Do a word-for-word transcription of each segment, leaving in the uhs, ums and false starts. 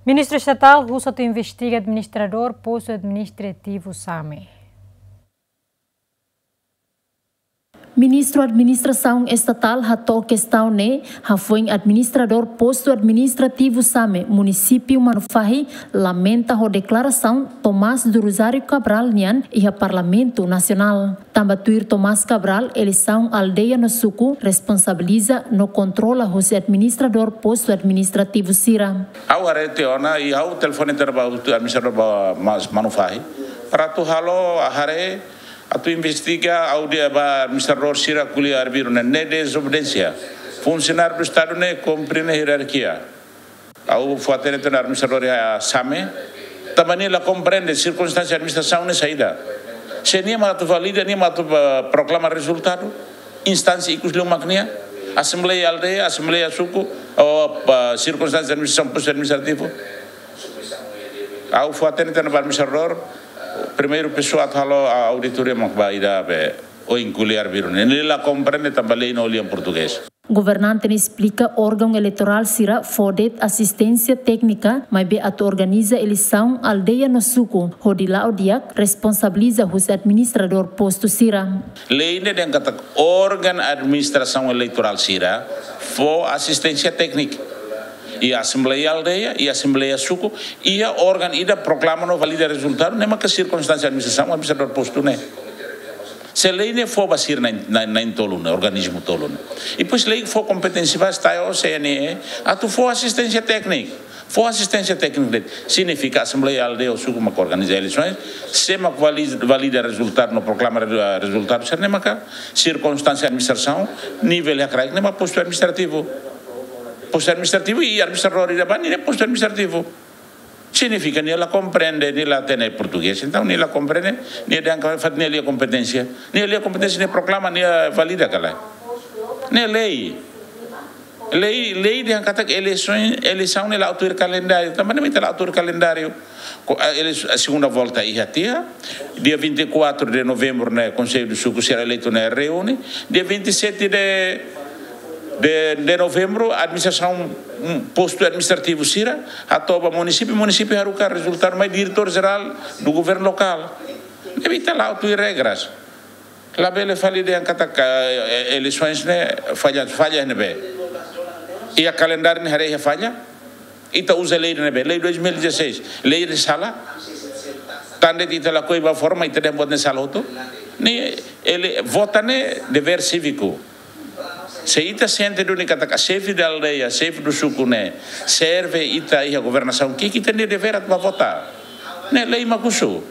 Ministru Estatál husu atu investiga administradór postu administrativu Same. Ministru Administrasaun Estatál hato'o kestaun ne'e hafoin administradór postu administrativu Same, munisípiu Manufahi, lamenta ho deklarasaun Tomás do Rosário Cabral nian iha Parlamentu Nasionál. Tanba tuir Tomás Cabral, eleisaun aldeia no suku responsabiliza no kontrola hosi administradór postu administrativu sira. Ha'u haree tiha ona i ha'u telefone tiha ona ba hotu administradór ba Manufahi para atu halo haree atu investiga, ha'u dehan ba administradór sira ko'alia arbiru ne'e, ne'e dezobediénsia. Funsionáriu do Estadu ne'e kumpre nia hierarkia. Ha'u fó-hatene tiha ona administradór iha Same, tanba nia la komprende sirkunstánsia administrasaun ne'e saida. Se nia mak atu valida, nia mak atu, eh, proklama rezultadu, instánsia ikus liu mak nia, asembleia aldeia, asembleia suku, ou, eh, sirkunstánsia administrasaun postu administrativu. Ha'u fó-hatene tiha ona ba administradór, primeiru pesoa atu halo auditoria mak ba ida be, ohin ko'alia arbiru ne'e. Nia la komprende tanba lei no lian portugés. Governante ne'e esplika órgaun eleitorál sira fó de'it asisténsia téknika, maibé atu organiza eleisaun aldeia no suku, hodi la'o di'ak responsabiliza hosi administradór postu sira. Lei ne'e dehan katak órgaun administrasaun eleitorál sira fó asisténsia téknika. I asembleia aldeia, i asembleia suku, i órgaun ida proklama no valida rezultadu, ne'e maka sirkunstánsia administrasaun, administradór postu ne'e. Se lei ne'e fó ba sira na'in, na'in, na'in tolu ne'e, organismu tolu ne'e. I depois lei fó kompeténsia ba STAE ou CNE, atu fó asisténsia téknika. Fó asisténsia téknika de'it. Signifika asembleia aldeia ou suku mak organiza eleisaun, sé mak vali-, valida rezultadu no proklama re-, rezultadu, sira ne'e maka sirkunstánsia administrasaun, nivel iha kraik ne'e mak postu administrativu. Postu administrativu i administradór ida ba ne'e postu administrativu. Signifika nia la komprende, nia la hatene portugés. Entaun, nia la komprende, nia dehan katak nia la iha kompeténsia. Nia la iha kompeténsia, nia proklama, nia valida ka lae. Ne'e lei. Lei, lei dehan katak eleisaun, eleisaun ne'e la'o tuir kalendáriu. Tanba ne'e mak ita la'o tuir kalendáriu. Ko-, a, ele-, a segunda volta iha tiha, dia vinte e quatro de novembro ne'e Konsellu do Suku sira eleitu ne'e reúne, dia vinte e sete de, de, de novembro, administrasaun, mm, postu administrativu sira hato'o ba munisípiu, munisípiu haruka rezultadu mai diretór jerál do governu lokál. Ne'ebé ita la'o tuir regras. Labele fali dehan katak, eh, eleisaun ne'e falla, falla ne'ebé. Iha kalendáriu ne'e haree iha falla. Ita uza lei ne'ebé, lei dois mil e dezasseis, lei ne'e sala. Tan de'it ita lakohi ba forma, ita dehan buat ne'e sala hotu. Ne'e, ele, vota ne'e devér síviku. Se ita sente duni katak xefe da aldeia, xefe do suku ne'e serve ita iha governasaun, ki'ik ita-nia devér atu ba vota. Ne'e lei mak husu.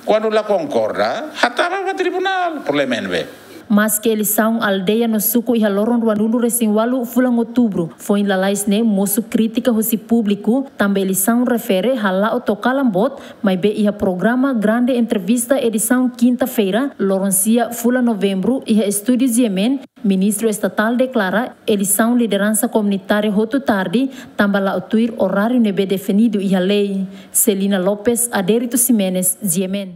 Kuandu la konkorda, hatama ba tribunál, problema ne'ebé. Maske eleisaun aldeia no suku iha loron ruanulu-resin-ualu fulan Outubru, foin lalais ne'e mosu krítika hosi públiku, tanba eleisaun refere hala'o to'o kalan boot, maibé iha programa Grande Entrevista edisaun kinta-feira, loron sia fulan Novembru, iha estúdiu GMN, Ministru Estatál deklara eleisaun lideransa komunitária hotu tarde, tanba la'o tuir oráriu ne'ebé definidu iha lei. Celina Lopes, Adérito Ximenes, GMN.